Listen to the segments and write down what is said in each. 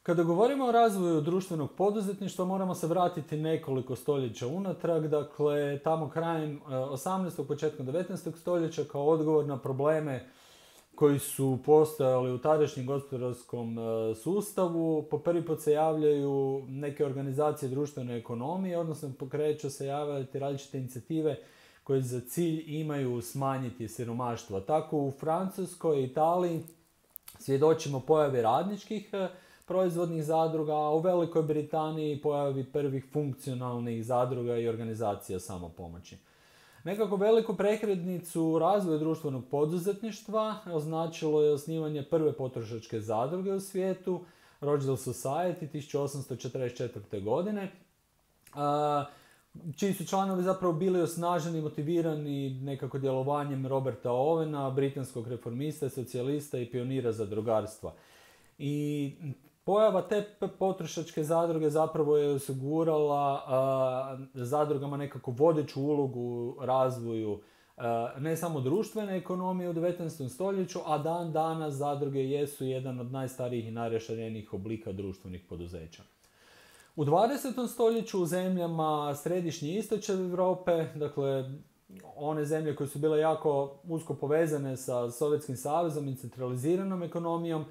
Kada govorimo o razvoju društvenog poduzetništva, moramo se vratiti nekoliko stoljeća unatrag, dakle tamo krajem 18. početkom 19. stoljeća kao odgovor na probleme koji su postojali u tadašnjem gospodarskom sustavu. Po prvi put se javljaju neke organizacije društvene ekonomije, odnosno pokreću se javljati različite inicijative koje za cilj imaju smanjiti siromaštvo. Tako u Francuskoj i Italiji svjedočimo pojavi radničkih proizvodnih zadruga, a u Velikoj Britaniji pojavi prvih funkcionalnih zadruga i organizacija samopomoći. Nekako veliku prekretnicu u razvoju društvenog poduzetništva označilo je osnivanje prve potrošačke zadruge u svijetu, Rochdale Society 1844. godine, čiji su članovi zapravo bili osnaženi i motivirani nekako djelovanjem Roberta Owena, britanskog reformista, socijalista i pionira zadrugarstva. I pojava te potrošačke zadruge zapravo je osigurala zadrugama nekako vodeću ulogu u razvoju ne samo društvene ekonomije u 19. stoljeću, a dan danas zadruge jesu jedan od najstarijih i najraširenijih oblika društvenih poduzeća. U 20. stoljeću u zemljama središnje i istočne Europe, dakle one zemlje koje su bile jako usko povezane sa Sovjetskim savezom i centraliziranom ekonomijom,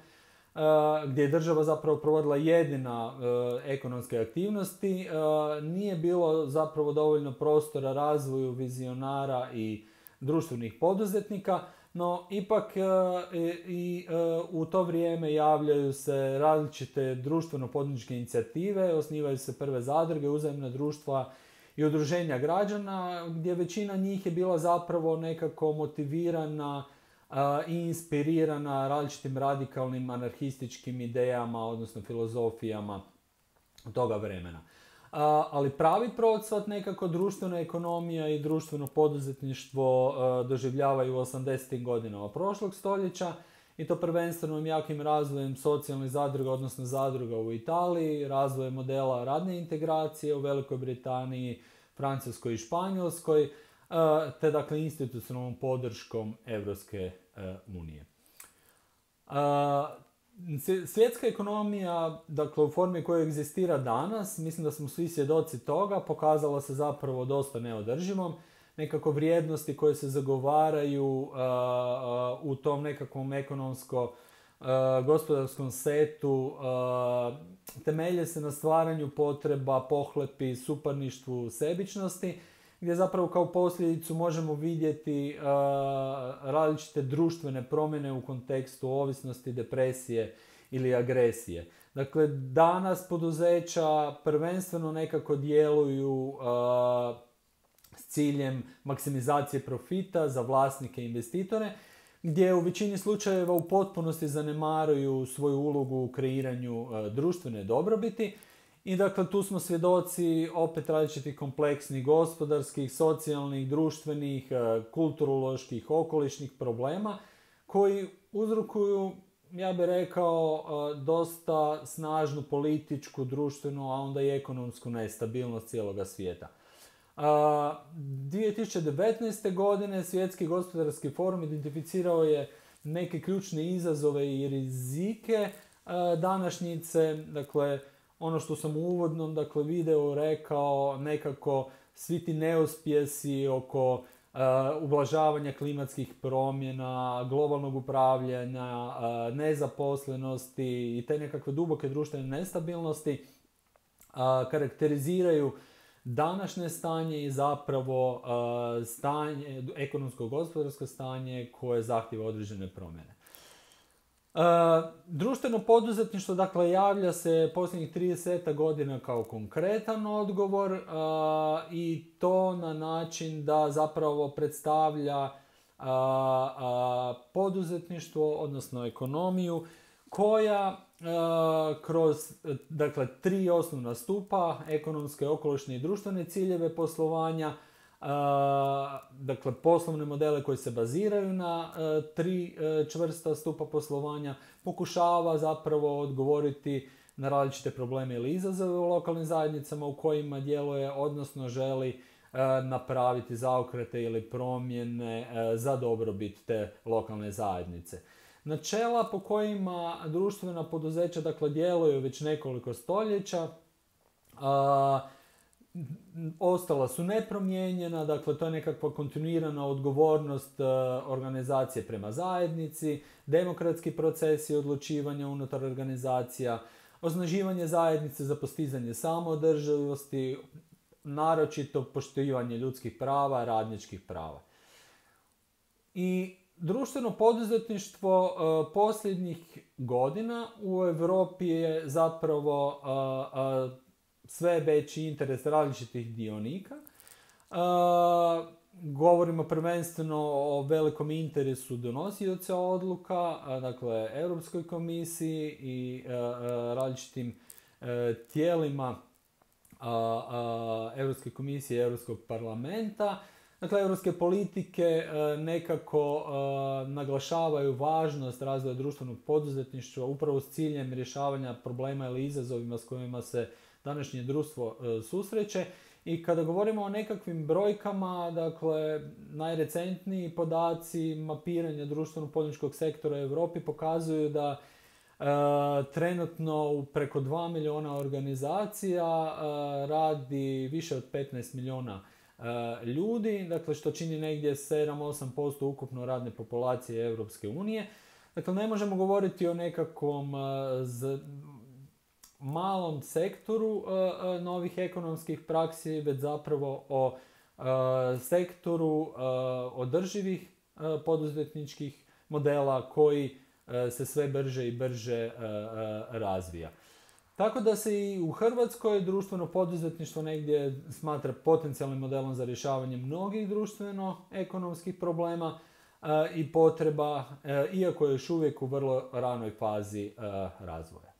gdje je država zapravo provodila jedina ekonomske aktivnosti, nije bilo zapravo dovoljno prostora razvoju vizionara i društvenih poduzetnika, no ipak u to vrijeme javljaju se različite društveno-poduzetničke inicijative, osnivaju se prve zadruge, uzajamna društva i udruženja građana, gdje većina njih je bila zapravo nekako motivirana i inspirirana različitim radikalnim anarhističkim idejama, odnosno filozofijama toga vremena. Ali pravi procvat nekako društvena ekonomija i društveno poduzetništvo doživljavaju u 80. godinama prošlog stoljeća, i to prvenstveno jakim razvojem socijalnih zadruga, odnosno zadruga u Italiji, razvojem modela radne integracije u Velikoj Britaniji, Francuskoj i Španjolskoj, te dakle institucionalnom podrškom Europske unije. Svjetska ekonomija, dakle u formi koja egzistira danas, mislim da smo svi svjedoci toga, pokazala se zapravo dosta neodrživom. Nekako vrijednosti koje se zagovaraju u tom nekakvom ekonomsko-gospodarskom setu temelje se na stvaranju potreba, pohlepi, suparništvu, sebičnosti, gdje zapravo kao posljedicu možemo vidjeti različite društvene promjene u kontekstu ovisnosti, depresije ili agresije. Dakle, danas poduzeća prvenstveno nekako djeluju s ciljem maksimizacije profita za vlasnike i investitore, gdje u većini slučajeva u potpunosti zanemaruju svoju ulogu u kreiranju društvene dobrobiti. I dakle, tu smo svjedoci opet različitih kompleksnih gospodarskih, socijalnih, društvenih, kulturoloških, okolišnih problema koji uzrokuju, ja bih rekao, dosta snažnu političku, društvenu, a onda i ekonomsku nestabilnost cijeloga svijeta. 2019. godine Svjetski gospodarski forum identificirao je neke ključne izazove i rizike današnjice, dakle, ono što sam u uvodnom videu rekao, nekako svi ti neuspjesi oko ublažavanja klimatskih promjena, globalnog upravljanja, nezaposlenosti i te nekakve duboke društvene nestabilnosti karakteriziraju današnje stanje i zapravo stanje, ekonomsko-gospodarsko stanje koje zahtjeva određene promjene. Društveno poduzetništvo, dakle, javlja se posljednjih 30 godina kao konkretan odgovor i to na način da zapravo predstavlja poduzetništvo, odnosno ekonomiju, koja kroz, dakle, 3 osnovna stupa, ekonomske, okolišne i društvene ciljeve poslovanja, dakle, poslovne modele koji se baziraju na 3 čvrsta stupa poslovanja, pokušava zapravo odgovoriti na različite probleme ili izazove u lokalnim zajednicama u kojima djeluje, odnosno želi napraviti zaokrete ili promjene za dobrobit te lokalne zajednice. Načela po kojima društvena poduzeća dakle djeluju već nekoliko stoljeća ostala su nepromijenjena, dakle to je nekakva kontinuirana odgovornost organizacije prema zajednici, demokratski procesi odlučivanja unutar organizacija, osnaživanje zajednice za postizanje samoodrživosti, naročito poštivanje ljudskih prava, radničkih prava. I društveno poduzetništvo posljednjih godina u Europi je zapravo sve veći interes različitih dionika. Govorimo prvenstveno o velikom interesu donosioca odluka, dakle Europskoj komisiji i različitim tijelima Europske komisije i Europskog parlamenta. Dakle, europske politike nekako naglašavaju važnost razvoja društvenog poduzetništva upravo s ciljem rješavanja problema ili izazovima s kojima se današnje društvo susreće. I kada govorimo o nekakvim brojkama, dakle, najrecentniji podaci mapiranja društveno-poduzetničkog sektora u Europi pokazuju da trenutno u preko 2 milijuna organizacija radi više od 15 milijuna ljudi, dakle što čini negdje 7-8% ukupno radne populacije Europske unije. Dakle, ne možemo govoriti o nekakvom malom sektoru novih ekonomskih praksi, već zapravo o sektoru održivih poduzetničkih modela koji se sve brže i brže razvija. Tako da se i u Hrvatskoj društveno poduzetništvo negdje smatra potencijalnim modelom za rješavanje mnogih društveno-ekonomskih problema i potreba, iako je još uvijek u vrlo ranoj fazi razvoja.